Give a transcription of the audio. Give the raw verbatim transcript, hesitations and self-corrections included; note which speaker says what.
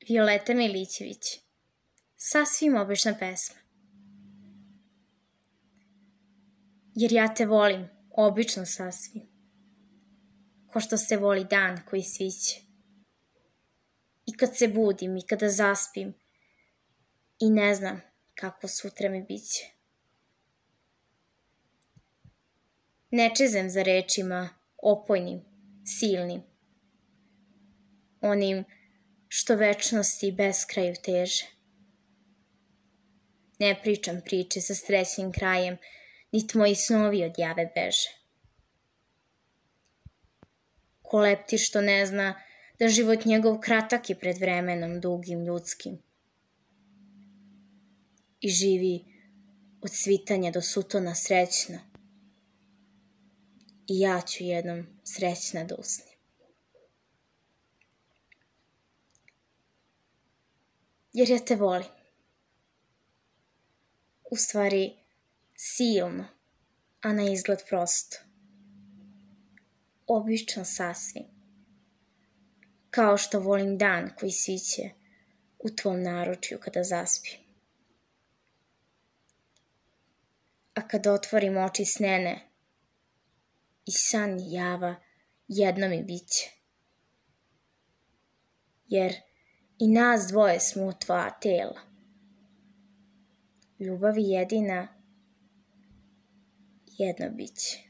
Speaker 1: Violeta Milićević. Sasvim obična pesma. Jer ja te volim, obično sasvim, ko što se voli dan koji sviće. I kad se budim i kada zaspim i ne znam kako sutra mi biće. Ne čezem za rečima opojnim, silnim, onim što večnosti beskraju teže. Ne pričam priče sa srećnim krajem, niti moji snovi od jave beže. Ko leptir što ne zna da život njegov kratak je pred vremenom dugim ljudskim i živi od svitanja do sutona srećno. I ja ću jednom srećna da usnim. Jer ja te volim. U stvari, silno, a na izgled prosto. Obično sasvim. Kao što volim dan koji sviće u tvom naručju kada zaspim. A kad otvorim oči snene, i san i java jedno mi biće. Jer i nas dvoje smo u tvoja tela. Ljubavi jedina jedno biće.